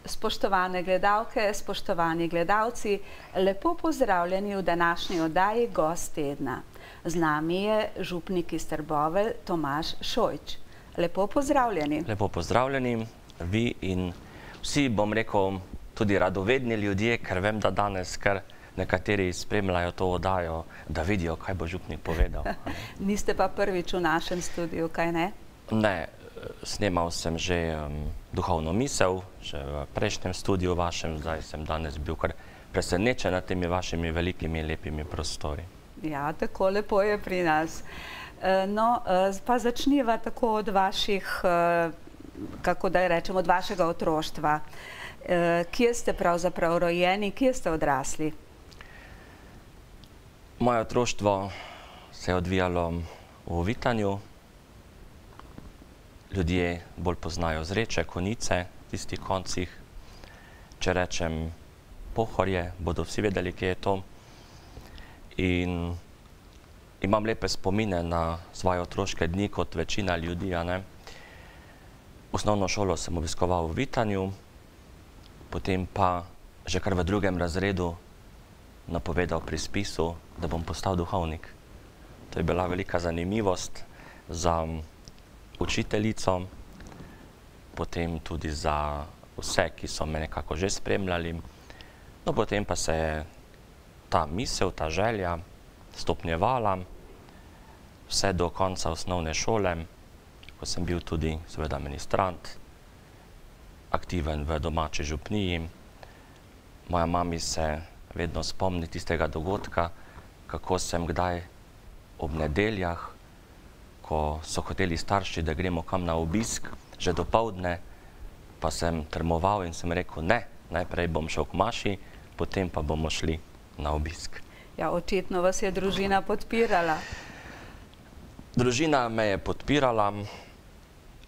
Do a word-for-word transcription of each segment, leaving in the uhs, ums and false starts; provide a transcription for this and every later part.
Spoštovane gledalke, spoštovani gledalci, lepo pozdravljeni v današnji oddaji Gost tedna. Z nami je župnik iz Trbovelj Tomaž Šojč. Lepo pozdravljeni. Lepo pozdravljeni, vi in vsi, bom rekel, tudi radovedni ljudje, ker vem, da danes kar nekateri spremljajo to oddajo, da vidijo, kaj bo župnik povedal. Niste pa prvič v našem studiu, kaj ne? Ne, snemal sem že um, duhovno misel, že v prejšnjem studiu vašem, zdaj sem danes bil kar presenečen nad temi vašimi velikimi, lepimi prostori. Ja, tako lepo je pri nas. No, pa začniva tako od vaših, kako da rečem, od vašega otroštva. Kje ste pravzaprav rojeni, kje ste odrasli? Moje otroštvo se je odvijalo v Vitanju. Ljudje bolj poznajo Zreče, Konjice, v tistih koncih. Če rečem Pohorje, bodo vsi vedeli, kje je to. In imam lepe spomine na svoje otroške dni, kot večina ljudi, a ne. Osnovno šolo sem obiskoval v Vitanju, potem pa že kar v drugem razredu napovedal pri spisu, da bom postal duhovnik. To je bila velika zanimivost za učiteljico, potem tudi za vse, ki so me nekako že spremljali. No, potem pa se je ta misel, ta želja stopnjevala vse do konca osnovne šole, ko sem bil tudi seveda ministrant, aktiven v domači župniji. Moja mami se vedno spomni tistega dogodka, kako sem kdaj ob nedeljah, ko so hoteli starši, da gremo kam na obisk, že dopoldne, pa sem trmoval in sem rekel, ne, najprej bom šel k maši, potem pa bomo šli na obisk. Ja, očitno vas je družina podpirala. Družina me je podpirala.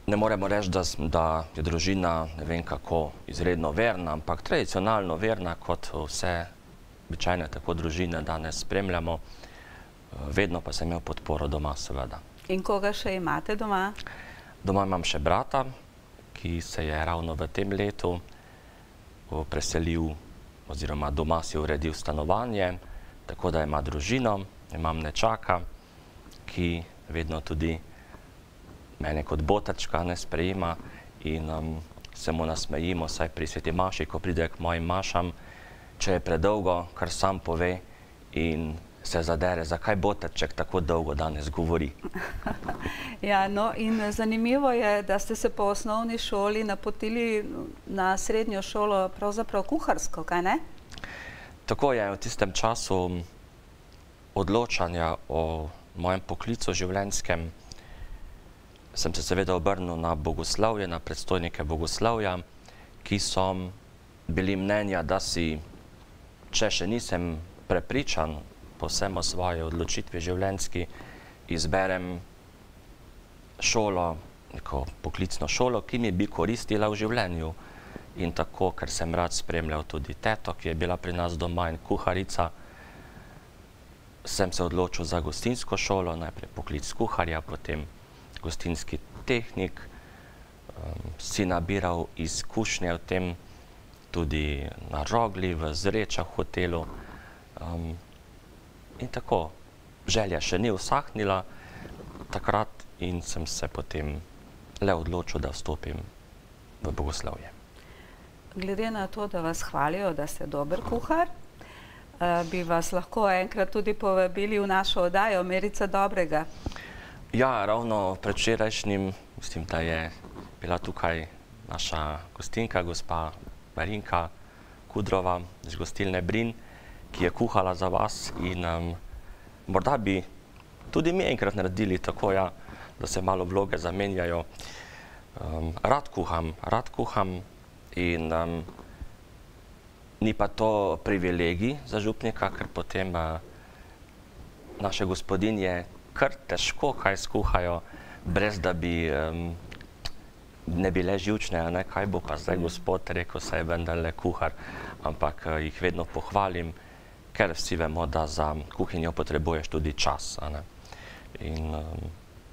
Ne moremo reči, da, da je družina, ne vem kako, izredno verna, ampak tradicionalno verna, kot vse običajne tako družine danes spremljamo. Vedno pa sem imel podporo doma, seveda. In koga še imate doma? Doma imam še brata, ki se je ravno v tem letu preselil, oziroma doma si uredil stanovanje, tako da ima družino, imam nečaka, ki vedno tudi mene kot botačka ne sprejema in um, se mu nasmejimo, saj pri sveti maši, ko pride k mojim mašam, če je predolgo, kar sam pove in se zadere, zakaj botaček tako dolgo danes govori. Ja, no in zanimivo je, da ste se po osnovni šoli napotili na srednjo šolo pravzaprav kuharsko, kaj ne? Tako je, v tistem času odločanja o mojem poklicu življenjskem sem se seveda obrnil na bogoslovje, na predstojnike bogoslovja, ki so bili mnenja, da si, če še nisem prepričan povsem o svoji odločitvi življenjski, izberem šolo, neko poklicno šolo, ki mi bi koristila v življenju. In tako, ker sem rad spremljal tudi teto, ki je bila pri nas doma in kuharica, sem se odločil za gostinsko šolo, najprej poklic kuharja, potem gostinski tehnik, um, si nabiral izkušnje v tem tudi na Rogli, v Zrečah hotelu. Um, in tako, želja še ni usahnila takrat in sem se potem le odločil, da vstopim v bogoslovje. Glede na to, da vas hvalijo, da ste dober kuhar, bi vas lahko enkrat tudi povabili v našo oddajo Merica dobrega. Ja, ravno predvčerajšnjim, mislim, da je bila tukaj naša gostinka, gospa Marinka Kudrova iz gostilne Brin, ki je kuhala za vas in um, morda bi tudi mi enkrat naredili tako, ja, da se malo vloge zamenjajo. Um, rad kuham, rad kuham in um, ni pa to privilegij za župnika, ker potem uh, naše gospodinje kar težko kaj skuhajo, brez da bi um, ne bile živčne, a ne, kaj bo pa zdaj gospod rekel, saj je vendarle kuhar, ampak uh, jih vedno pohvalim, ker vsi vemo, da za kuhinjo potrebuješ tudi čas, a ne. In um,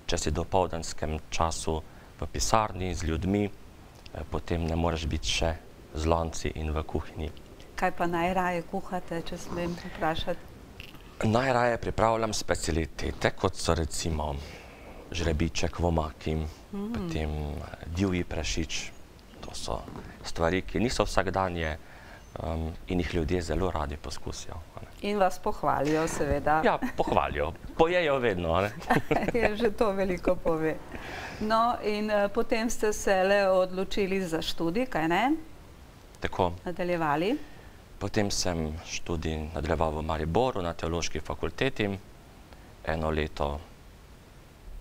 če si v dopoldanskem času v pisarni z ljudmi, eh, potem ne moreš biti še z lonci in v kuhinji. Kaj pa najraje kuhate, če smem vprašati? Najraje pripravljam specialitete, kot so recimo žrebiček v omaki, mm. potem divji prašič. To so stvari, ki niso vsakdanje um, in jih ljudje zelo radi poskusijo. In vas pohvalijo, seveda. Ja, pohvalijo. Pojejo vedno. Je že to veliko pove. No, in uh, potem ste se le odločili za študij, kaj ne? Tako. Nadaljevali? Potem sem študij nadaljeval v Mariboru na teološki fakulteti. Eno leto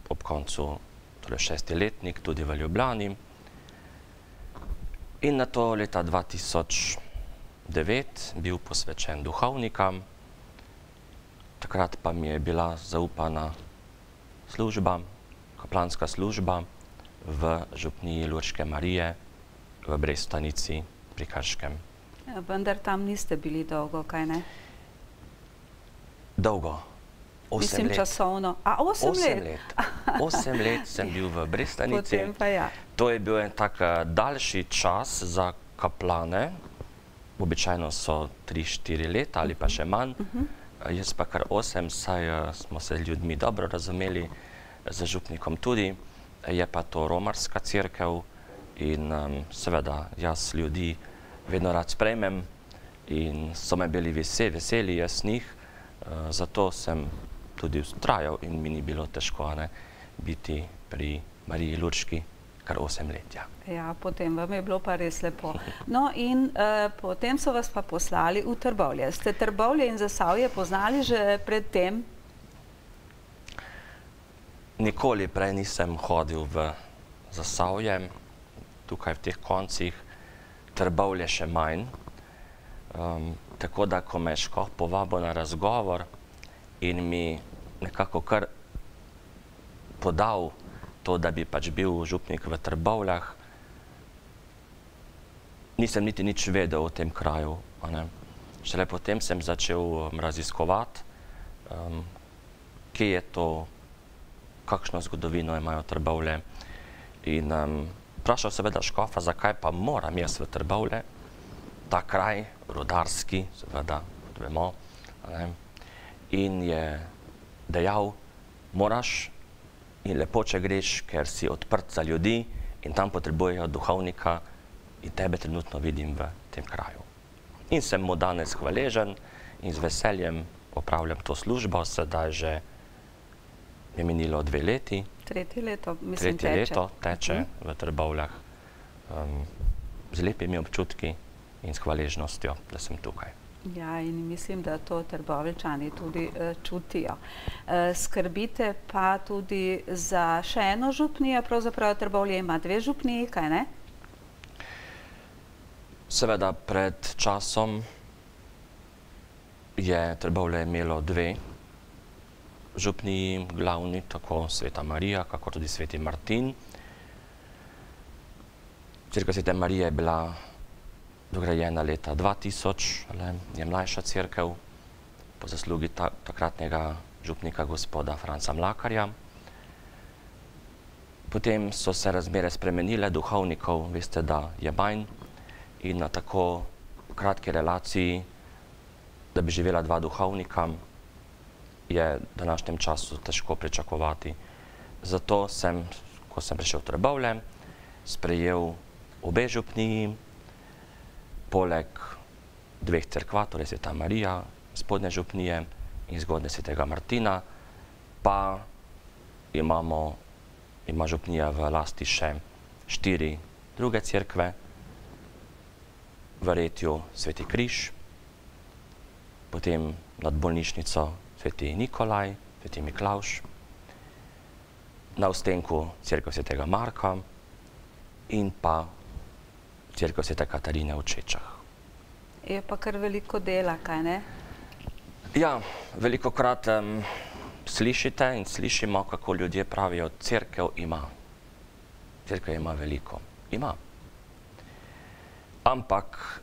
ob koncu, torej šesti letnik, tudi v Ljubljani. In na to leta dva tisoč devet bil posvečen duhovnikam. Takrat pa mi je bila zaupana služba, kaplanska služba v župniji Lurške Marije v Brestanici pri Krškem. Ja, vendar tam niste bili dolgo, kaj ne? Dolgo. Osem Mislim let. časovno. A, osem, osem let? let. Osem let sem bil v Brestanici. Potem pa ja. To je bil en tak daljši čas za kaplane. Običajno so tri, štiri leta ali pa še manj. Uh-huh. Jaz pa kar osem, saj smo se ljudmi dobro razumeli, z župnikom tudi. Je pa to romarska cerkev in um, seveda jaz ljudi vedno rad sprejmem in so me bili veseli, veseli jaz njih. Uh, zato sem tudi vztrajal in mi ni bilo težko ne, biti pri Mariji Lurški kar osem let. Ja. Ja, potem vam je bilo pa res lepo. No in uh, potem so vas pa poslali v Trbovlje. Ste Trbovlje in Zasavje poznali že pred tem? Nikoli prej nisem hodil v Zasavje, tukaj v teh koncih, Trbovlje še manj. Um, tako da, ko me je škof povabil na razgovor in mi nekako kar podal to, da bi pač bil župnik v Trbovljah, nisem niti nič vedel o tem kraju. Ne. Šele potem sem začel um, raziskovati, um, kje je to, kakšno zgodovino imajo Trbovlje. In um, vprašal seveda škofa, zakaj pa moram jaz v Trbovlje, ta kraj, rudarski, seveda, kot vemo. Ne. In je dejal, moraš in lepo, če greš, ker si odprt za ljudi in tam potrebujejo duhovnika in tebe trenutno vidim v tem kraju. In sem mu danes hvaležen in z veseljem opravljam to službo, sedaj že je minilo dve leti. Tretje leto, mislim, Tretje teče. leto teče uh-huh. v Trbovljah um, z lepimi občutki in s hvaležnostjo, da sem tukaj. Ja, in mislim, da to Trboveljčani tudi uh, čutijo. Uh, skrbite pa tudi za še eno župnijo, pravzaprav Trbovlje ima dve župniji, kaj ne? Seveda pred časom je Trbovlje imelo dve župniji glavni, tako Sveta Marija, kako tudi Sveti Martin. Cerkev Svete Marije je bila dograjena leta dva tisoč, le, je mlajša cerkev po zaslugi ta, takratnega župnika gospoda Franca Mlakarja. Potem so se razmere spremenile, duhovnikov, veste, da je manj in na tako kratki relaciji, da bi živela dva duhovnika, je v današnjem času težko pričakovati. Zato sem, ko sem prišel v Trbovlje, sprejel obe župniji, poleg dveh cerkva, torej Sveta Marija, spodnje župnije in zgodnje Svetega Martina, pa imamo, ima župnija v lasti še štiri druge cerkve, v Retju Sveti Križ, potem nad bolnišnico Sveti Nikolaj, Sveti Miklavž, na Ustenku cerkev Svetega Marka in pa cerkev Svete Katarine v Čečah. Je pa kar veliko dela, kaj ne? Ja, velikokrat um, slišite in slišimo, kako ljudje pravijo, cerkev ima. Cerkev ima veliko. Ima. Ampak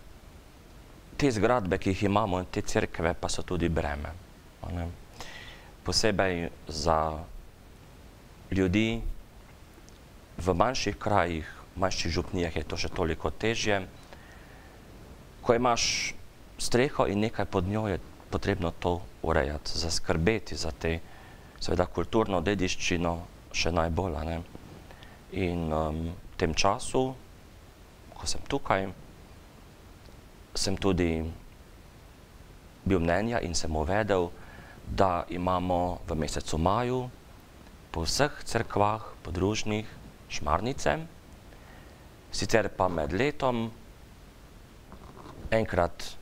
te zgradbe, ki jih imamo, in te cerkve pa so tudi breme. Ne? Posebej za ljudi v manjših krajih, v manjših župnijah je to še toliko težje, ko imaš streho in nekaj pod njo, je potrebno to urejati, zaskrbeti za te, seveda, kulturno dediščino še najbolj, a ne. In um, v tem času, ko sem tukaj, sem tudi bil mnenja in sem uvedel, da imamo v mesecu maju po vseh cerkvah podružnih šmarnice, sicer pa med letom enkrat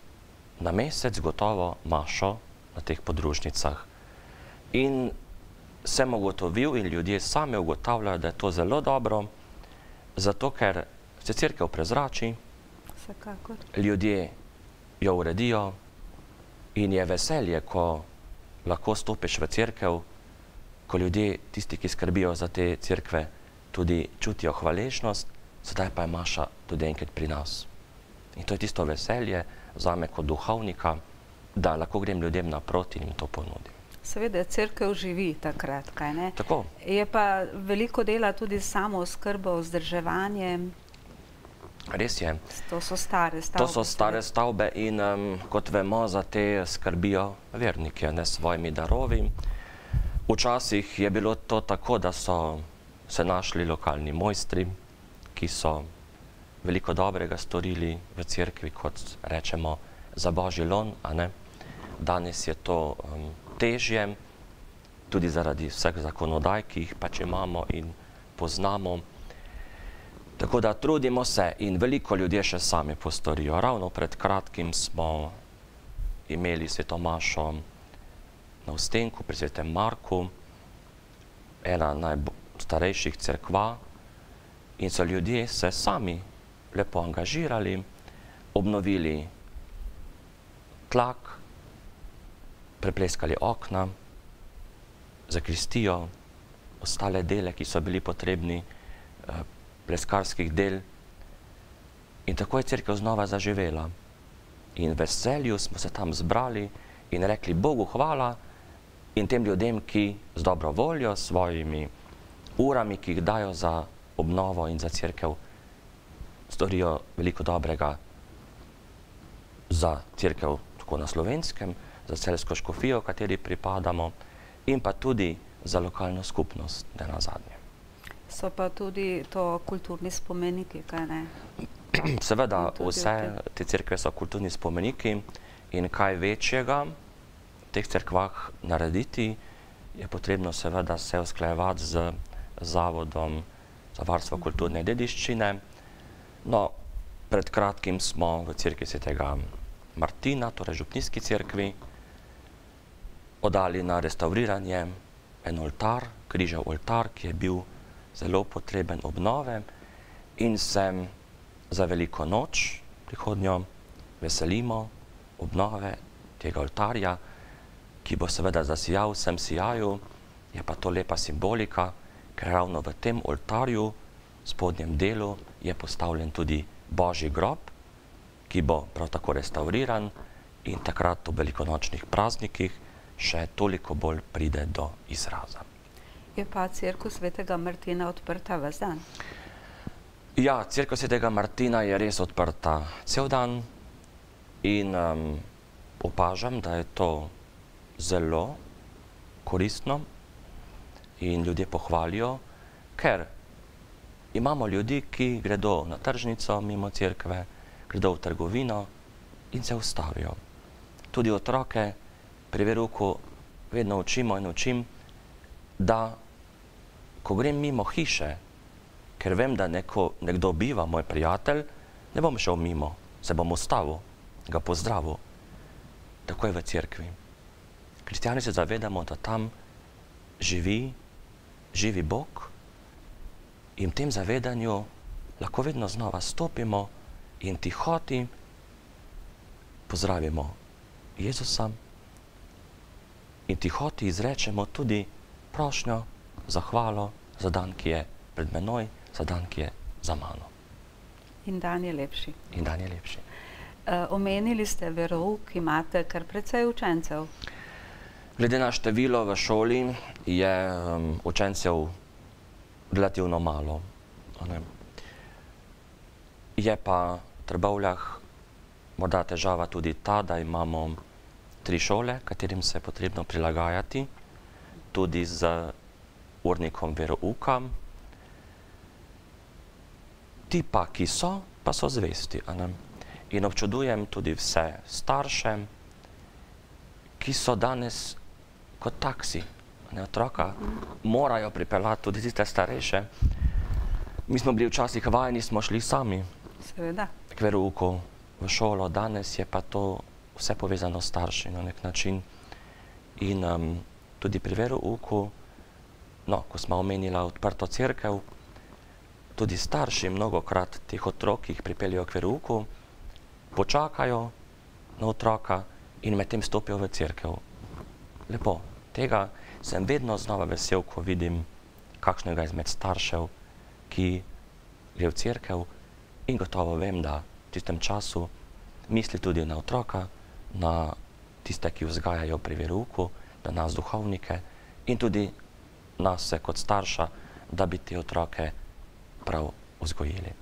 na mesec gotovo mašo na teh podružnicah. In sem ugotovil in ljudje sami ugotavljajo, da je to zelo dobro, zato ker se cerkev prezrači, Vsekakor. ljudje jo uredijo in je veselje, ko lahko stopiš v cerkev, ko ljudje, tisti, ki skrbijo za te cerkve, tudi čutijo hvaležnost, sedaj pa je maša tudi enkrat pri nas. In to je tisto veselje zame kot duhovnika, da lahko grem ljudem naproti in jim to ponudim. Seveda, cerkev živi takrat, kaj ne? Tako. Je pa veliko dela tudi s samooskrbo, vzdrževanjem. Res je. To so stare stavbe. To so stare stavbe in um, kot vemo, za te skrbijo verniki, ne, s svojimi darovi. Včasih je bilo to tako, da so se našli lokalni mojstri, ki so veliko dobrega storili v cerkvi, kot rečemo, za božji lon, a ne. Danes je to um, težje, tudi zaradi vseh zakonodaj, ki jih pač imamo in poznamo. Tako da trudimo se in veliko ljudje še sami postorijo. Ravno pred kratkim smo imeli sveto mašo na Ustenku pri svetem Marku, ena najstarejših cerkva, in so ljudje se sami lepo angažirali, obnovili tlak, prepleskali okna, zakristijo, ostale dele, ki so bili potrebni, pleskarskih del, in tako je cerkev znova zaživela. In v veselju smo se tam zbrali in rekli Bogu hvala in tem ljudem, ki z dobro voljo, s svojimi urami, ki jih dajo za obnovo in za cerkev, storijo veliko dobrega za cerkev tako na Slovenskem, za celjsko škofijo, kateri pripadamo, in pa tudi za lokalno skupnost, ne nazadnje. So pa tudi to kulturni spomeniki, kaj ne? Seveda, vse te cerkve so kulturni spomeniki in kaj večjega v teh cerkvah narediti, je potrebno seveda se usklajevati z Zavodom za varstvo kulturne dediščine. No, pred kratkim smo v cerkvi svetega Martina, torej župnijski cerkvi, oddali na restavriranje en oltar, križev oltar, ki je bil zelo potreben obnove, in se za veliko noč prihodnjo veselimo obnove tega oltarja, ki bo seveda zasijal vsem sijaju. Je pa to lepa simbolika, ker ravno v tem oltarju, v spodnjem delu, je postavljen tudi Božji grob, ki bo prav tako restauriran in takrat v velikonočnih praznikih še toliko bolj pride do izraza. Je pa cerkev svetega Martina odprta ves dan? Ja, cerkev svetega Martina je res odprta cel dan in um, opažam, da je to zelo koristno in ljudje pohvalijo, ker imamo ljudi, ki gredo na tržnico mimo cerkve, gredo v trgovino in se ustavijo. Tudi otroke pri verouku vedno učimo in učim, da ko grem mimo hiše, ker vem, da neko, nekdo biva, moj prijatelj, ne bom šel mimo, se bom ustavil, ga pozdravil. Tako je v cerkvi. Kristjani se zavedamo, da tam živi, živi Bog in v tem zavedanju lahko vedno znova stopimo in tihoti pozdravimo Jezusa in tihoti izrečemo tudi prošnjo, zahvalo za dan, ki je pred menoj, za dan, ki je za mano. In dan je lepši. In dan je lepši. Uh, omenili ste verouk, imate kar precej učencev. Glede na število v šoli je um, učencev relativno malo. Ne? Je pa v Trbovljah morda težava tudi ta, da imamo tri šole, katerim se je potrebno prilagajati, tudi z urnikom verouka. Ti pa, ki so, pa so zvesti. In občudujem tudi vse starše, ki so danes kot taksi. Otroka morajo pripeljati tudi tiste starejše. Mi smo bili včasih vajeni, smo šli sami k verouku v šolo, danes je pa to vse povezano s starši na nek način. In um, tudi pri verouku, no, ko smo omenila odprto cerkev, tudi starši mnogokrat teh otrok, ki jih pripeljejo k verouku, počakajo na otroka in medtem stopijo v cerkev. Lepo. Tega sem vedno znova vesel, ko vidim kakšnega izmed staršev, ki gre v cerkev in gotovo vem, da v tistem času misli tudi na otroka, na tiste, ki vzgajajo pri verouku, na nas duhovnike in tudi nas kot starša, da bi te otroke prav vzgojili.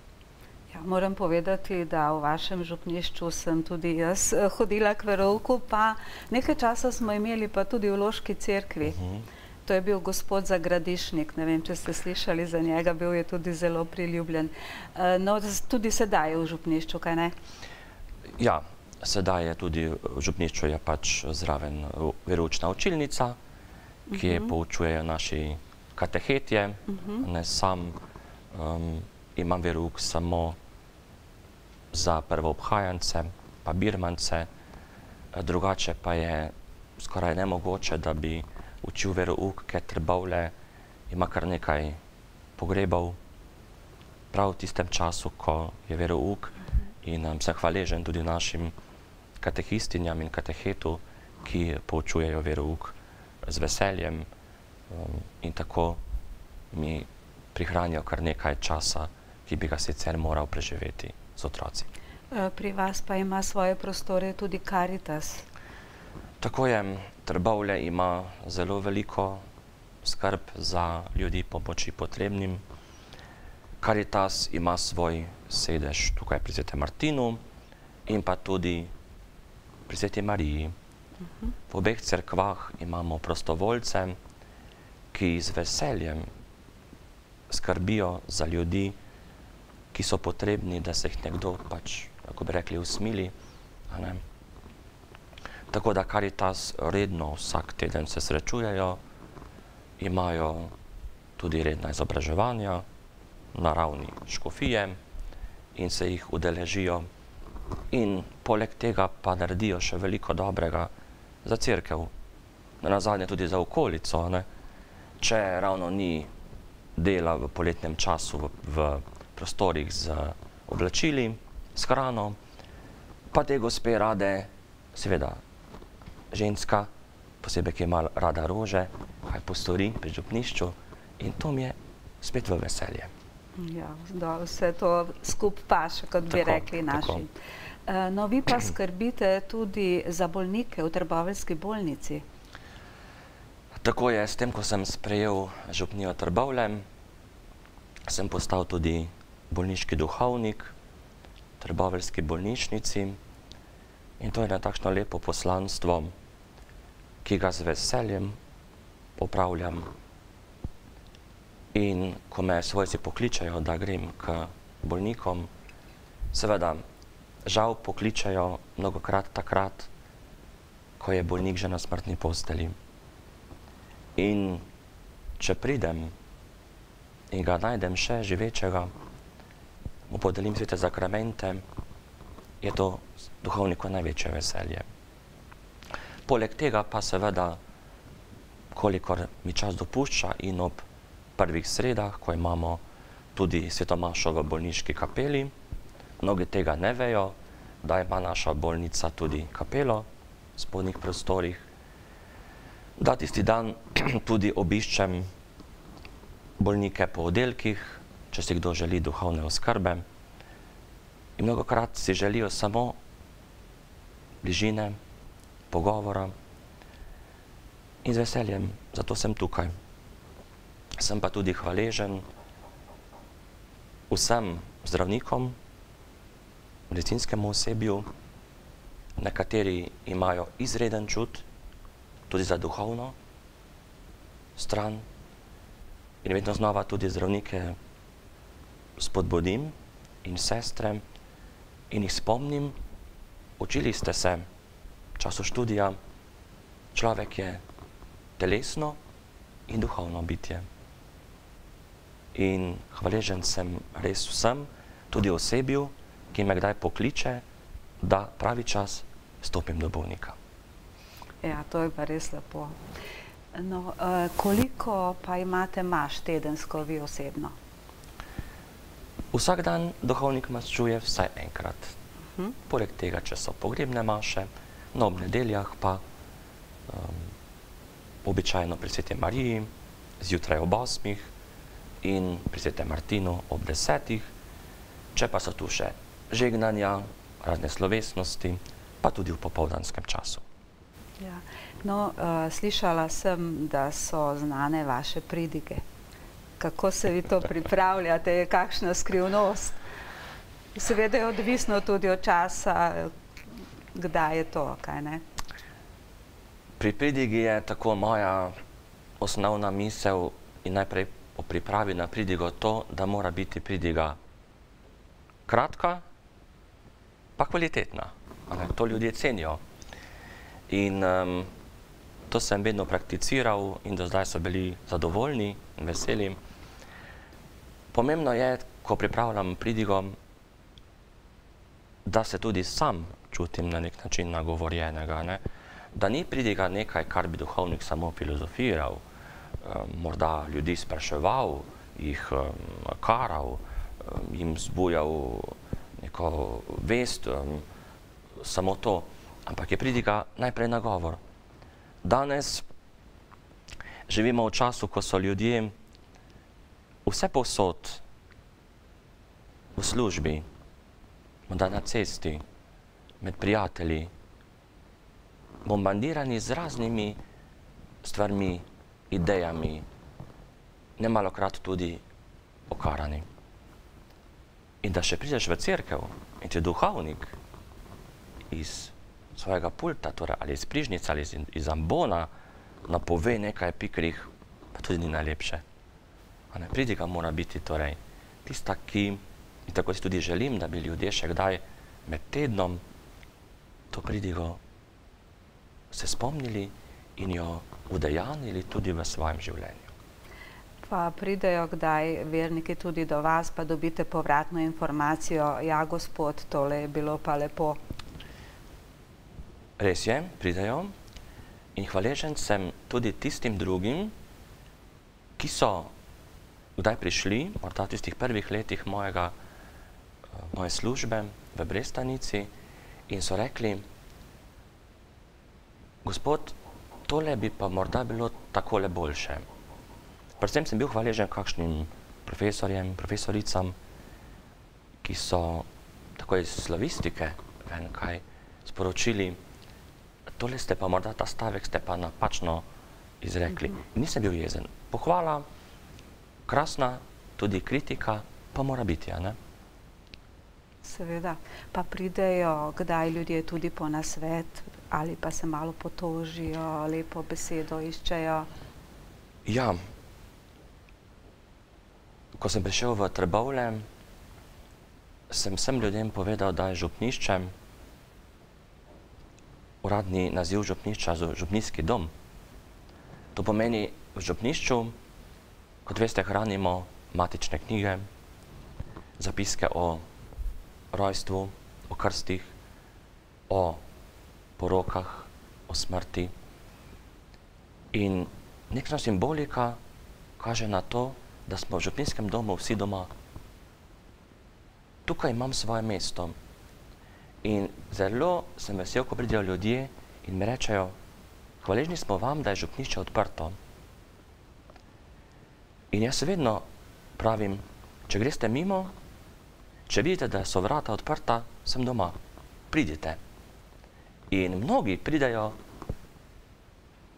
Ja, moram povedati, da v vašem župnišču sem tudi jaz hodila k verouku, pa nekaj časa smo imeli pa tudi v Loški cerkvi. Uh-huh. To je bil gospod Zagradišnik, ne vem, če ste slišali za njega, bil je tudi zelo priljubljen. No, tudi sedaj je v župnišču, kaj ne? Ja, sedaj je tudi v župnišču je pač zraven veroučna učilnica, ki je poučujejo naši katehetje. Ne sam imam verouk samo za prvoobhajance, pa birmance, drugače pa je skoraj nemogoče, da bi učil verouk, ker Trbovlje ima kar nekaj pogrebov prav v tistem času, ko je verouk. In sem hvaležen tudi našim katehistinjam in katehetu, ki poučujejo verouk z veseljem in tako mi prihranijo kar nekaj časa, ki bi ga sicer moral preživeti z otroci. Pri vas pa ima svoje prostore tudi Karitas. Tako je, Trbovlje ima zelo veliko skrb za ljudi pomoči potrebnim. Karitas ima svoj sedež tukaj pri Svetem Martinu in pa tudi pri Sveti Mariji. V obeh cerkvah imamo prostovoljce, ki z veseljem skrbijo za ljudi, ki so potrebni, da se jih nekdo pač, kako bi rekli, usmili. Tako da Karitas redno vsak teden se srečujejo, imajo tudi redna izobraževanja na ravni škofije in se jih udeležijo. In poleg tega pa naredijo še veliko dobrega za cerkev, nazadnje tudi za okolico. Če ravno ni dela v poletnem času v prostorih z oblačili, s hrano, pa te gospe rade, seveda ženska, posebej, ki ima rada rože, kaj postori pri župnišču in to mi je spet v veselje. Ja, vse to skup paše, kot bi rekli naši. No, vi pa skrbite tudi za bolnike v Trboveljski bolnici. Tako je, s tem, ko sem sprejel župnijo Trbovlje, sem postal tudi bolniški duhovnik v Trboveljski bolnišnici in to je na takšno lepo poslanstvo, ki ga z veseljem opravljam. In ko me svojci pokličajo, da grem k bolnikom, seveda žal pokličajo mnogokrat takrat, ko je bolnik že na smrtni posteli. In če pridem in ga najdem še živečega, mu podelim svete zakramente, je to duhovniku največje veselje. Poleg tega pa seveda, kolikor mi čas dopušča in ob prvih sredah, ko imamo tudi svetomašo v bolniški kapeli, mnogi tega ne vejo, da ima naša bolnica tudi kapelo v spodnjih prostorih, da tisti dan tudi obiščem bolnike po oddelkih, če si kdo želi duhovne oskrbe. In mnogokrat si želijo samo bližine, pogovora in z veseljem, zato sem tukaj. Sem pa tudi hvaležen vsem zdravnikom, medicinskemu osebju, nekateri imajo izreden čut, tudi za duhovno stran. In vedno znova tudi zdravnike spodbudim in sestre in jih spomnim, učili ste se v času študija, človek je telesno in duhovno bitje. In hvaležen sem res vsem, tudi osebju, ki me kdaj pokliče, da pravi čas stopim do bolnika. Ja, to je pa res lepo. No, koliko pa imate maš tedensko vi osebno? Vsak dan duhovnik maščuje vsaj enkrat. Poleg tega, če so pogrebne maše, no ob nedeljah pa običajno pri Sveti Mariji, zjutraj ob osmih in pri Svetem Martinu ob desetih, če pa so tu še žegnanja, razne slovesnosti, pa tudi v popoldanskem času. Ja. No, slišala sem, da so znane vaše pridige. Kako se vi to pripravljate, je kakšna skrivnost? Seveda je odvisno tudi od časa, kdaj je to, kaj ne? Pri pridigi je tako moja osnovna misel in najprej po pripravi na pridigo to, da mora biti pridiga kratka, pa kvalitetna. To ljudje cenijo. In to sem vedno prakticiral in do zdaj so bili zadovoljni in veseli. Pomembno je, ko pripravljam pridigo, da se tudi sam čutim na nek način nagovorjenega. Da ni pridiga nekaj, kar bi duhovnik samo filozofiral, morda ljudi spraševal, jih karal, jim zbujal neko vest, samo to. Ampak je pridiga najprej nagovor. Danes živimo v času, ko so ljudje vse povsod, v službi, morda na cesti, med prijatelji, bombardirani z raznimi stvarmi, idejami, nemalokrat tudi okarani. In da še prideš v cerkev in ti duhovnik iz svojega pulta, torej ali iz prižnice ali iz ambona, napove nekaj pikrih, pa tudi ni najlepše. Pridiga mora biti torej tista, ki, in tako si tudi želim, da bi ljudje še kdaj med tednom to pridigo se spomnili in jo udejanili tudi v svojem življenju. Pa pridejo kdaj verniki tudi do vas, pa dobite povratno informacijo, ja, gospod, tole je bilo pa lepo. Res je, pridejo in hvaležen sem tudi tistim drugim, ki so kdaj prišli, morda v tistih prvih letih mojega, moje službe v Brestanici in so rekli, gospod, tole bi pa morda bilo takole boljše. Predvsem sem bil hvaležen kakšnim profesorjem, profesoricam, ki so tako iz slavistike ven kaj sporočili, tole ste pa morda ta stavek ste pa napačno izrekli. Nisem bil jezen. Pohvala, krasna, tudi kritika, pa mora biti, a ne? Seveda. Pa pridejo kdaj ljudje tudi po nasvet, ali pa se malo potožijo, lepo besedo iščejo? Ja. Ko sem prišel v Trbovlje, sem vsem ljudem povedal, da je župnišče, uradni naziv župnišča, župnijski dom. To pomeni, v župnišču, kot veste, hranimo matične knjige, zapiske o rojstvu, o krstih, o porokah, o smrti. In nekšna simbolika kaže na to, da smo v župnijskem domu vsi doma. Tukaj imam svoje mesto. In zelo sem vesel, ko pridejo ljudje in mi rečejo, hvaležni smo vam, da je župnišče odprto. In jaz vedno pravim, če greste mimo, če vidite, da so vrata odprta, sem doma. Pridite. In mnogi pridejo,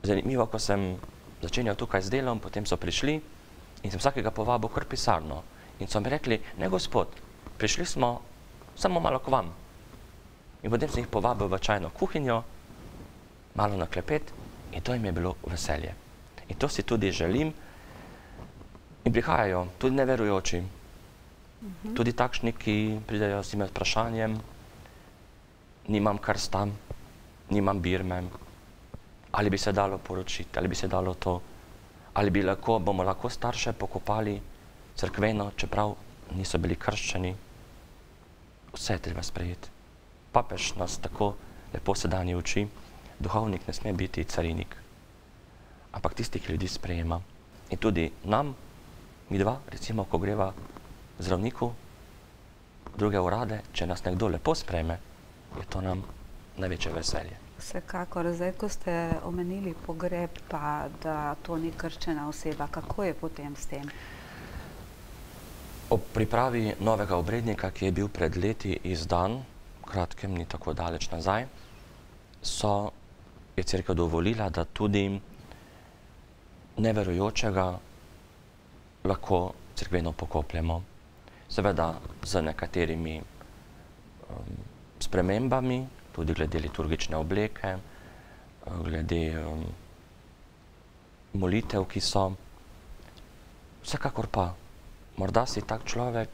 zanimivo, ko sem začenjal tukaj z delom, potem so prišli in sem vsakega povabil kar pisarno. In so mi rekli, ne gospod, prišli smo samo malo k vam. in potem sem jih povabil v čajno kuhinjo, malo na klepet in to jim je bilo veselje. In to si tudi želim in prihajajo tudi neverujoči, tudi takšni, ki pridejo s tem vprašanjem, nimam krsta, nimam birme, ali bi se dalo poročiti, ali bi se dalo to, ali bi lahko, bomo lahko starše pokopali cerkveno, čeprav niso bili krščeni. Vse je treba sprejeti. Papež nas tako lepo sedanje uči, duhovnik ne sme biti carinik, ampak tisti, ki ljudi sprejema. In tudi nam, mi dva, recimo, ko greva zdravniku, druge urade, če nas nekdo lepo sprejme, je to nam največje veselje. Vsekakor, zdaj, ko ste omenili pogreb, pa da to ni krščena oseba, kako je potem s tem? Ob pripravi novega obrednika, ki je bil pred leti izdan, kratkem, ni tako daleč nazaj, so, je cerkev dovolila, da tudi neverujočega lahko cerkveno pokopljemo. Seveda z nekaterimi um, spremembami, tudi glede liturgične obleke, glede um, molitev, ki so. Vsekakor pa, morda si tak človek,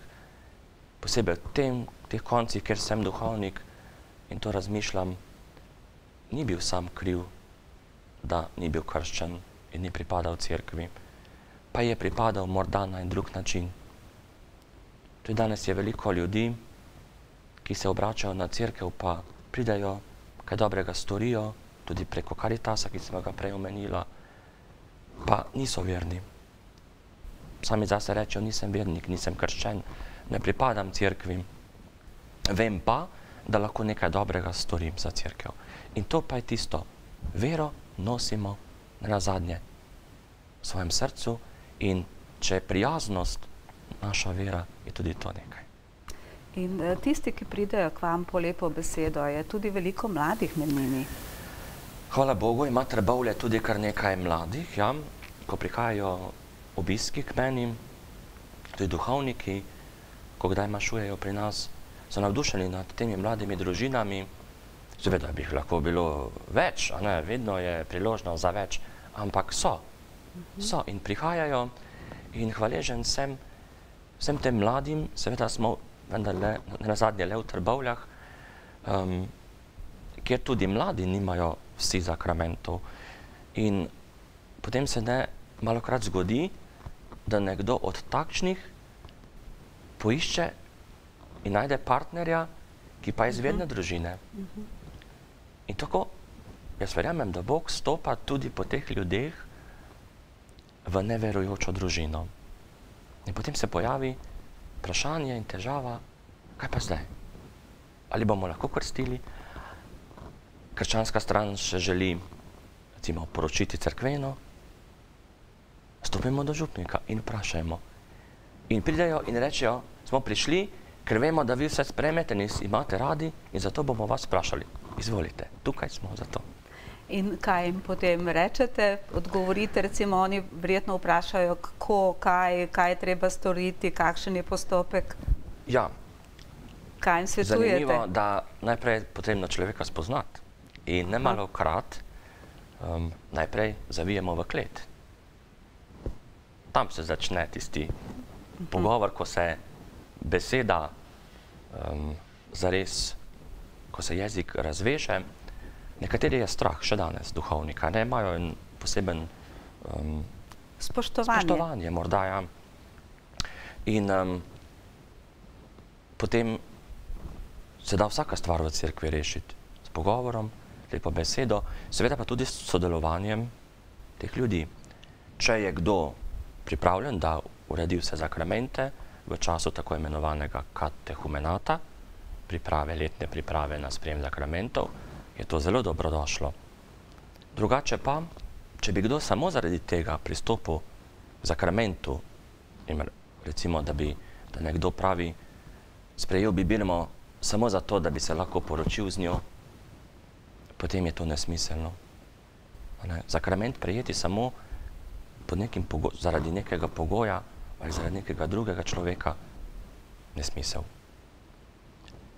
posebej v tem, teh koncih, kjer sem duhovnik in to razmišljam, ni bil sam kriv, da ni bil krščen in ni pripadal cerkvi, pa je pripadal morda na en drug način. Tudi danes je veliko ljudi, ki se obračajo na cerkev, pa pridajo, kaj dobrega storijo, tudi preko Karitasa, ki sem ga prej omenila, pa niso verni. Sami zase rečejo, nisem vernik, nisem krščen, ne pripadam cerkvi. Vem pa, da lahko nekaj dobrega storim za cerkev. In to pa je tisto, vero nosimo nazadnje v svojem srcu in če je prijaznost naša vera, je tudi to nekaj. In tisti, ki pridejo k vam po lepo besedo, je tudi veliko mladih med njimi? Hvala Bogu, ima Trbovlje tudi kar nekaj mladih, ja. Ko prihajajo obiski k meni, tudi duhovniki, ko kdaj mašujejo pri nas, so navdušeni nad temi mladimi družinami. Seveda bi jih lahko bilo več, a ne, vedno je priložnost za več, ampak so, so in prihajajo in hvaležen sem vsem tem mladim, seveda smo vendarle nazadnje le v Trbovljah, um, kjer tudi mladi nimajo vsi zakramentov. In potem se ne malokrat zgodi, da nekdo od takšnih poišče in najde partnerja, ki pa je iz verne družine. In tako, jaz verjamem, da Bog stopa tudi po teh ljudeh v neverujočo družino. In potem se pojavi vprašanje in težava, kaj pa zdaj? Ali bomo lahko krstili? Krščanska stran še želi, recimo, poročiti cerkveno, stopimo do župnika in vprašajmo. In pridejo in rečejo, smo prišli, ker vemo, da vi vse spremete in imate radi in zato bomo vas vprašali. Izvolite, tukaj smo za to. In kaj jim potem rečete? Odgovorite, recimo, oni verjetno vprašajo, kako, kaj, kaj je treba storiti, kakšen je postopek? Ja. Kaj jim svetujete? Zanimivo, da najprej je potrebno človeka spoznati. In nemalokrat um, najprej zavijemo v klet. Tam se začne tisti pogovor, ko se beseda um, zares, ko se jezik razveže. Nekateri je strah še danes duhovnika, ne imajo en poseben um, spoštovanje. spoštovanje, morda ja. In um, potem se da vsaka stvar v cerkvi rešiti s pogovorom, lepo besedo, seveda pa tudi s sodelovanjem teh ljudi. Če je kdo pripravljen, da uredi vse zakramente v času tako imenovanega katehumenata, priprave, letne priprave na sprejem zakramentov, je to zelo dobrodošlo. Drugače pa, če bi kdo samo zaradi tega pristopil k zakramentu, recimo, da bi da nekdo pravi, sprejel bi birmo samo zato, da bi se lahko poročil z njo, potem je to nesmiselno. Ne? Zakrament prejeti samo pod nekim zaradi nekega pogoja ali zaradi nekega drugega človeka, nesmisel.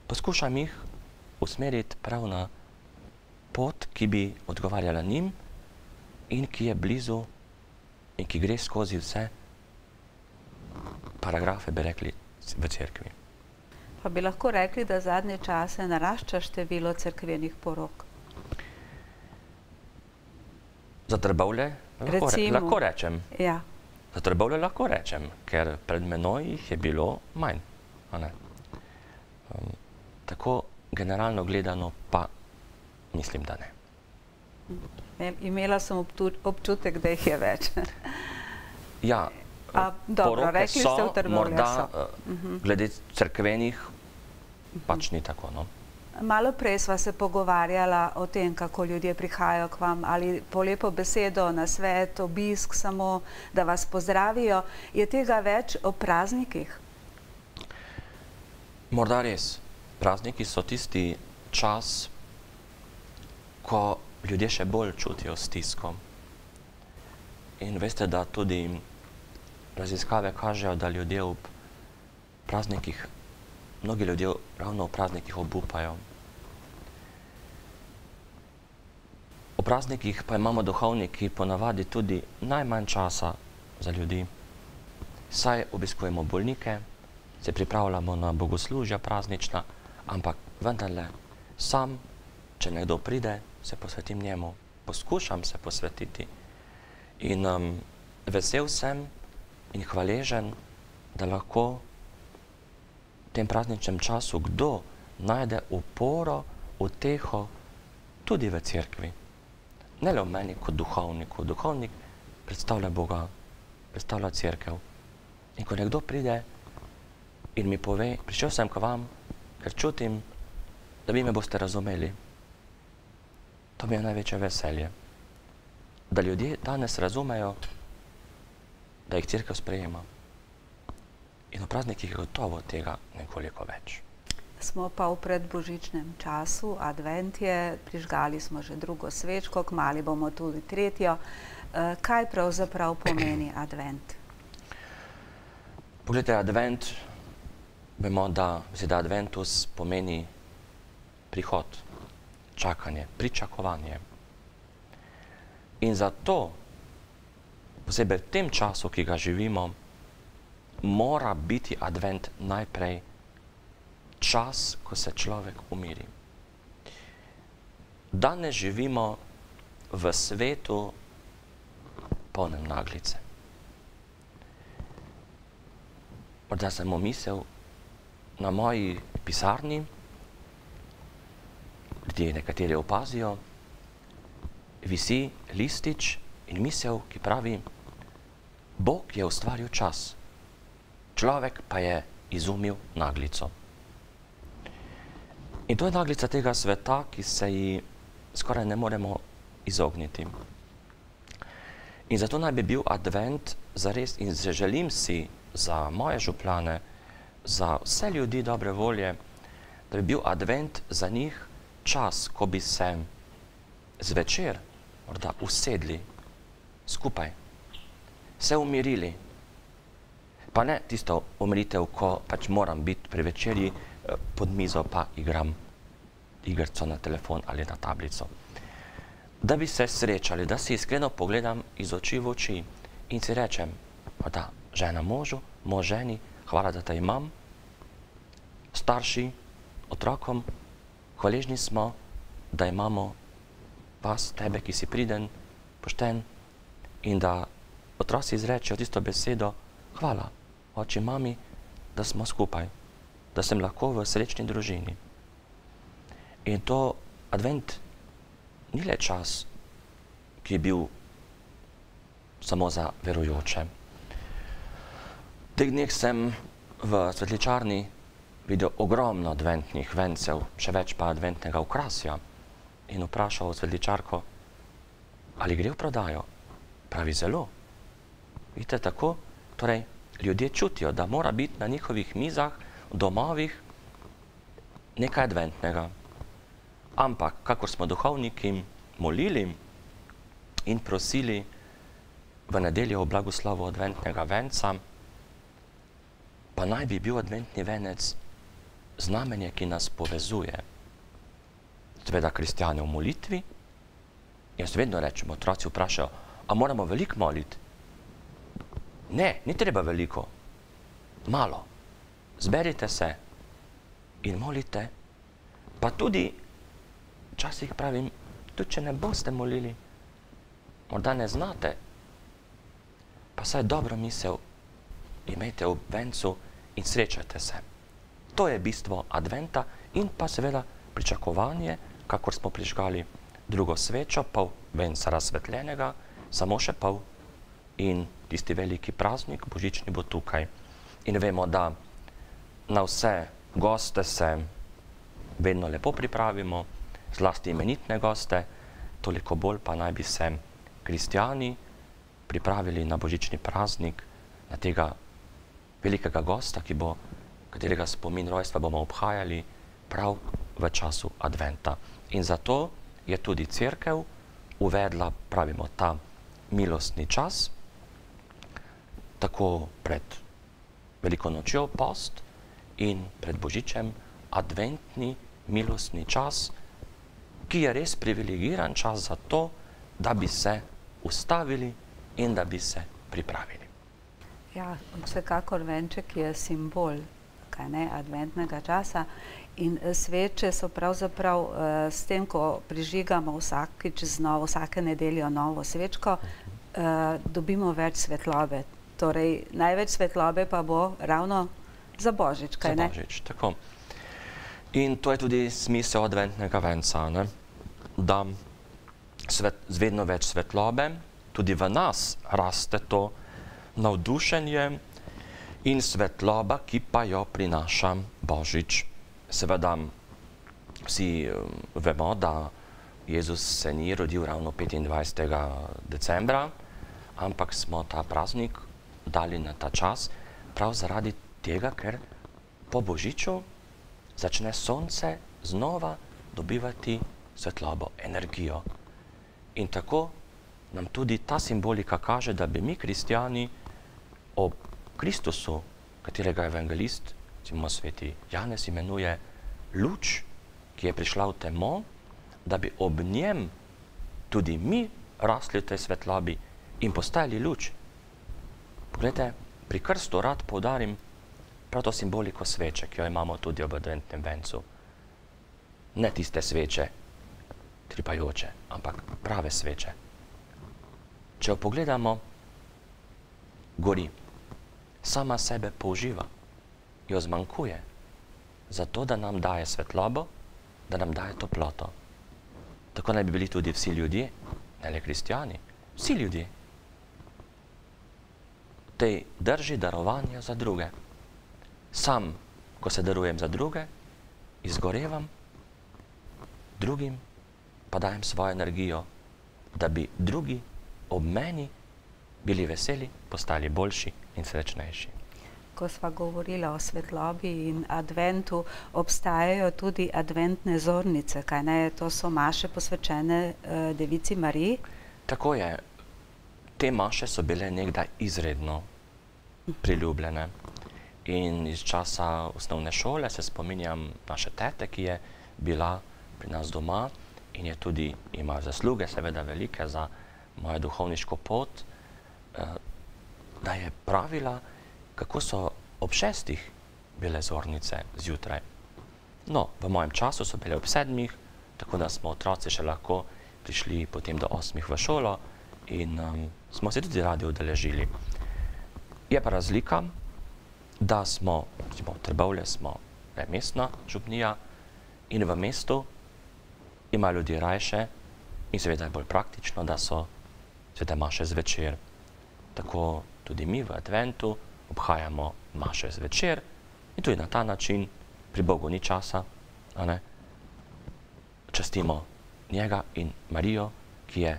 Poskušam jih usmeriti prav na pot, ki bi odgovarjala njim in ki je blizu in ki gre skozi vse paragrafe, bi rekli, v cerkvi. Pa bi lahko rekli, da zadnje čase narašča število cerkvenih porok? Za Trbovlje lahko, re, lahko rečem. Ja. Za Trbovlje lahko rečem, ker pred menoj jih je bilo manj. A ne? Um, tako generalno gledano pa mislim, da ne. Imela sem občutek, da jih je več. Ja, A, dobro, poroke rekli so, ste v Trbovljah morda so. uh, glede cerkvenih pač ni tako, no. Malo prej sva se pogovarjala o tem, kako ljudje prihajajo k vam, ali po lepo besedo, na svet, obisk samo, da vas pozdravijo. Je tega več o praznikih? Morda res. Prazniki so tisti čas, ko ljudje še bolj čutijo stisko. In veste, da tudi raziskave kažejo, da ljudje ob praznikih, mnogi ljudje ravno v praznikih obupajo. V praznikih pa imamo duhovniki ponavadi tudi najmanj časa za ljudi. Saj obiskujemo bolnike, se pripravljamo na bogoslužja praznična, ampak vendarle sam, če nekdo pride, se posvetim njemu, poskušam se posvetiti. In um, vesel sem in hvaležen, da lahko v tem prazničnem času kdo najde oporo, uteho tudi v cerkvi. Ne le v meni kot duhovniku. Duhovnik predstavlja Boga, predstavlja cerkev. In ko nekdo pride in mi pove, prišel sem k vam, ker čutim, da vi me boste razumeli. To mi je največje veselje. Da ljudje danes razumejo, da jih cerkev sprejema. In v praznikih je gotovo tega nekoliko več. Smo pa v predbožičnem času, advent je, prižgali smo že drugo svečko, kmalu bomo tudi tretjo. Kaj pravzaprav pomeni advent? Poglejte, advent, vemo, da beseda adventus pomeni prihod, čakanje, pričakovanje. In zato, posebej v tem času, ki ga živimo, mora biti advent najprej čas, ko se človek umiri. Danes živimo v svetu polnem naglice. Morda sem omislil na moji pisarni, ljudje nekateri opazijo, visi listič in misel, ki pravi, Bog je ustvaril čas, človek pa je izumil naglico. In to je naglica tega sveta, ki se ji skoraj ne moremo izogniti. In zato naj bi bil advent zares, in želim si za moje župljane, za vse ljudi dobre volje, da bi bil advent za njih čas, ko bi se zvečer morda usedli skupaj, se umirili. Pa ne tisto umiritev, ko pač moram biti pri večerji pod mizo pa igram igrico na telefon ali na tablico. Da bi se srečali, da si iskreno pogledam iz oči v oči in si rečem, da žena možu, mož ženi, hvala, da te imam, starši, otrokom, hvaležni smo, da imamo vas, tebe, ki si priden, pošten, in da otroci izrečejo tisto besedo, hvala, oči, mami, da smo skupaj, da sem lahko v srečni družini. In to advent ni le čas, ki je bil samo za verujoče. V teh dneh sem v svetličarni videl ogromno adventnih vencev, še več pa adventnega okrasja, in vprašal svetličarko, ali gre v prodajo. Pravi, zelo. Vidite, tako, torej, ljudje čutijo, da mora biti na njihovih mizah, v domovih, nekaj adventnega. Ampak, kakor smo duhovniki molili in prosili v nedeljo o blagoslovu adventnega venca, pa naj bi bil adventni venec znamenje, ki nas povezuje. seveda kristjane v molitvi. Jaz vedno rečem, otroci vprašajo, a moramo veliko moliti? Ne, ni treba veliko. Malo. Zberite se in molite. Pa tudi, včasih pravim, tudi če ne boste molili, morda ne znate, pa saj dobro misel imejte v vencu in srečajte se. To je bistvo adventa in pa seveda pričakovanje, kakor smo prižgali drugo svečo, pol venca razsvetljenega, samo še pol in tisti veliki praznik, božični, bo tukaj. In vemo, da na vse goste se vedno lepo pripravimo, zlasti imenitne goste, toliko bolj pa naj bi se kristjani pripravili na božični praznik, na tega velikega gosta, ki bo, katerega spomin rojstva bomo obhajali prav v času adventa. In zato je tudi cerkev uvedla, pravimo, ta milostni čas, tako pred veliko nočjo post in pred božičem adventni milostni čas, ki je res privilegiran čas za to, da bi se ustavili in da bi se pripravili. Ja, vsekakor venček je simbol, kaj ne, adventnega časa in sveče so pravzaprav uh, s tem, ko prižigamo vsakič znova, vsake nedeljo novo svečko, uh, dobimo več svetlobe. Torej, največ svetlobe pa bo ravno za Božič, kaj ne? Za Božič, tako. In to je tudi smisel adventnega venca, ne? Da svet, z vedno več svetlobe, tudi v nas raste to navdušenje in svetloba, ki pa jo prinaša Božič. Seveda vsi vemo, da Jezus se ni rodil ravno petindvajsetega decembra, ampak smo ta praznik dali na ta čas prav zaradi tega, ker po Božiču začne sonce znova dobivati svetlobo, energijo. In tako nam tudi ta simbolika kaže, da bi mi kristjani ob Kristusu, katerega evangelist, recimo sveti Janez imenuje luč, ki je prišla v temo, da bi ob njem tudi mi rasli v tej svetlobi in postajali luč. Poglejte, pri krstu rad poudarim prav to simboliko sveče, ki jo imamo tudi ob adventnem vencu. Ne tiste sveče, tripajoče, ampak prave sveče. Če jo pogledamo, gori, sama sebe použiva, jo zmanjkuje, zato da nam daje svetlobo, da nam daje toploto. Tako naj bi bili tudi vsi ljudje, ne le kristjani, vsi ljudje. V tej drži darovanja za druge. Sam, ko se darujem za druge, izgorevam, drugim pa dajem svojo energijo, da bi drugi ob meni bili veseli, postali boljši in srečnejši. Ko sva govorila o svetlobi in adventu, obstajajo tudi adventne zornice, kaj ne? To so maše posvečene uh, Devici Mariji. Tako je. Te maše so bile nekdaj izredno priljubljene. In iz časa osnovne šole se spominjam naše tete, ki je bila pri nas doma in je tudi ima zasluge, seveda velike, za mojo duhovniško pot, da je pravila, kako so ob šestih bile zornice zjutraj. No, v mojem času so bile ob sedmih, tako da smo otroci še lahko prišli potem do osmih v šolo in um, smo se tudi radi udeležili. Je pa razlika, da smo, recimo v Trbovlje smo mestna župnija in v mestu ima ljudi rajše in seveda je bolj praktično, da so svete maše zvečer. Tako tudi mi v adventu obhajamo maše zvečer in tudi na ta način, pri Bogu ni časa, a ne, častimo njega in Marijo, ki je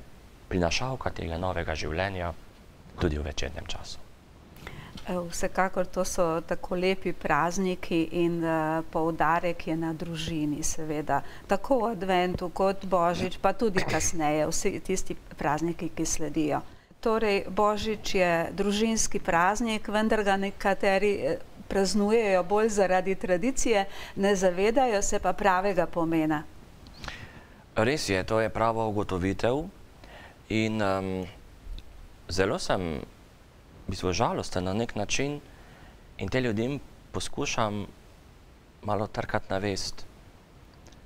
prinašalka tega novega življenja tudi v večernem času. Vsekakor to so tako lepi prazniki in uh, poudarek je na družini, seveda. Tako v adventu kot Božič, pa tudi kasneje, vsi tisti prazniki, ki sledijo. Torej, Božič je družinski praznik, vendar ga nekateri praznujejo bolj zaradi tradicije, ne zavedajo se pa pravega pomena. Res je, to je prava ugotovitev in um, zelo sem v bistvu žalosten na nek način in te ljudem poskušam malo trkati na vest.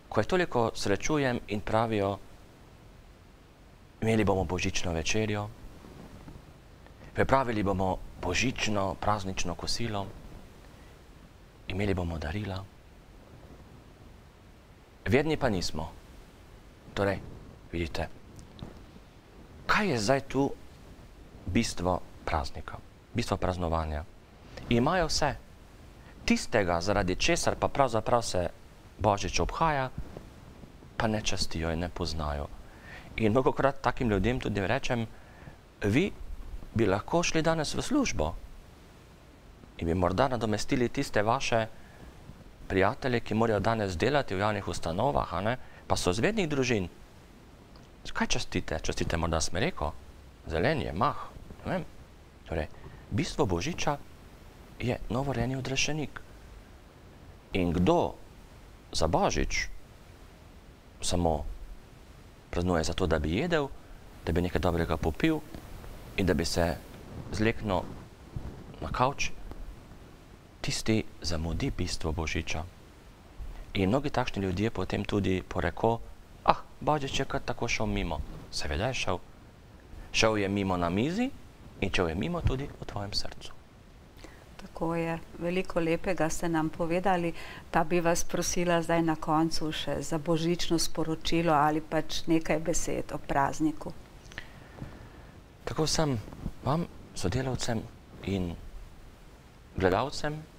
Ko jih toliko srečujem in pravijo, imeli bomo božično večerjo, pripravili bomo božično, praznično kosilo, imeli bomo darila. Verni pa nismo. Torej, vidite, kaj je zdaj tu bistvo praznika, bistvo praznovanja? Imajo vse. Tistega, zaradi česar pa pravzaprav se Božič obhaja, pa ne častijo in ne poznajo. In mnogokrat takim ljudem tudi rečem, vi bi lahko šli danes v službo in bi morda nadomestili tiste vaše prijatelje, ki morajo danes delati v javnih ustanovah, a ne? Pa so iz vednih družin. Kaj častite? Častite morda smreko, zelenje, mah, ne vem. Torej, bistvo Božiča je novorojeni odrešenik. In kdo za Božič samo praznuje zato, da bi jedel, da bi nekaj dobrega popil in da bi se zleknil na kavč, tisti zamudi bistvo Božiča. In mnogi takšni ljudje potem tudi poreko, ah, Božič je kar tako šel mimo. Seveda je šel. Šel je mimo na mizi in šel je mimo tudi v tvojem srcu. Tako je. Veliko lepega ste nam povedali, pa bi vas prosila zdaj na koncu še za božično sporočilo ali pač nekaj besed o prazniku. Tako vsem vam, sodelavcem in gledalcem,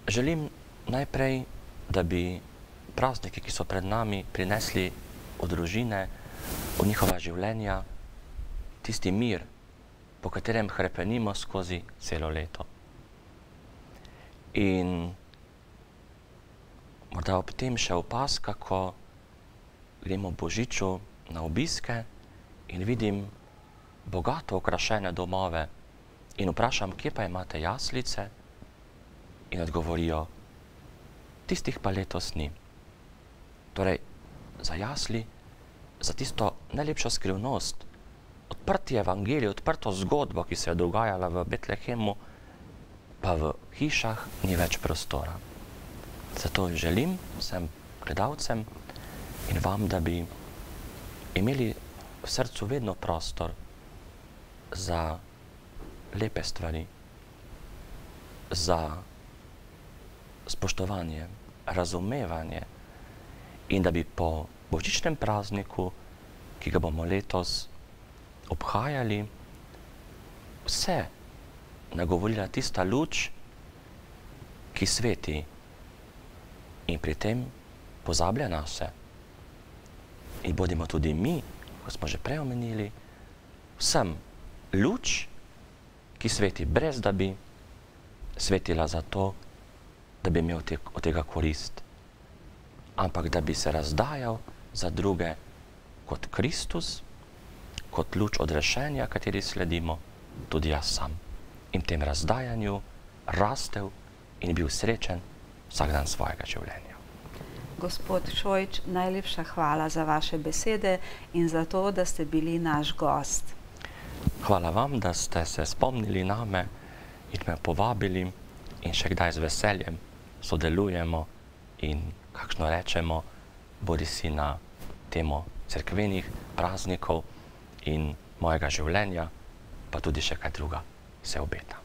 želim najprej, da bi prazniki, ki so pred nami, prinesli v družine, v njihova življenja, tisti mir, po katerem hrepenimo skozi celo leto. In morda ob tem še opazka, ko gremo v Božiču na obiske in vidim bogato okrašene domove in vprašam, kje pa imate jaslice, in odgovorijo, tistih pa letos ni. Torej, za jasli, za tisto najlepšo skrivnost, odprti evangelij, odprto zgodbo, ki se je dogajala v Betlehemu, pa v hišah ni več prostora. Zato želim vsem gledalcem in vam, da bi imeli v srcu vedno prostor za lepe stvari, za spoštovanje, razumevanje in da bi po božičnem prazniku, ki ga bomo letos obhajali, vse nagovorila tista luč, ki sveti in pri tem pozablja na vse. In bodimo tudi mi, kot smo že prej omenili, vsem luč, ki sveti brez da bi svetila za to, da bi imel te, od tega korist, ampak da bi se razdajal za druge kot Kristus, kot luč odrešenja, kateri sledimo, tudi jaz sam. In v tem razdajanju rastel in bil srečen vsak dan svojega življenja. Gospod Šojič, najlepša hvala za vaše besede in za to, da ste bili naš gost. Hvala vam, da ste se spomnili name in me povabili in še kdaj z veseljem sodelujemo in kakšno rečemo, bodi si na temo cerkvenih praznikov in mojega življenja, pa tudi še kaj druga se obeta.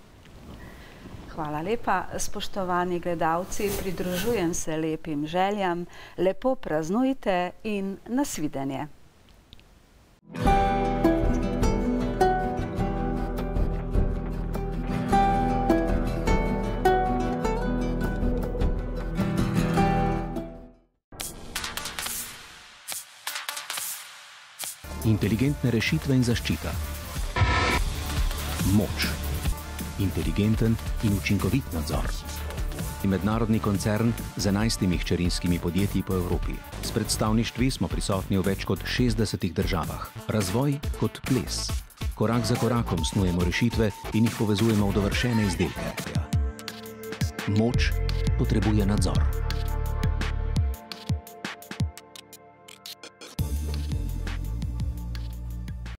Hvala lepa. Spoštovani gledalci, pridružujem se lepim željam, lepo praznujte in nasvidenje. Inteligentne rešitve in zaščita. Moč. Inteligenten in učinkovit nadzor. Mednarodni koncern z enajstimi hčerinskimi podjetji po Evropi. S predstavništvi smo prisotni v več kot šestdesetih državah. Razvoj kot ples. Korak za korakom snujemo rešitve in jih povezujemo v dovršene izdelke. Moč potrebuje nadzor.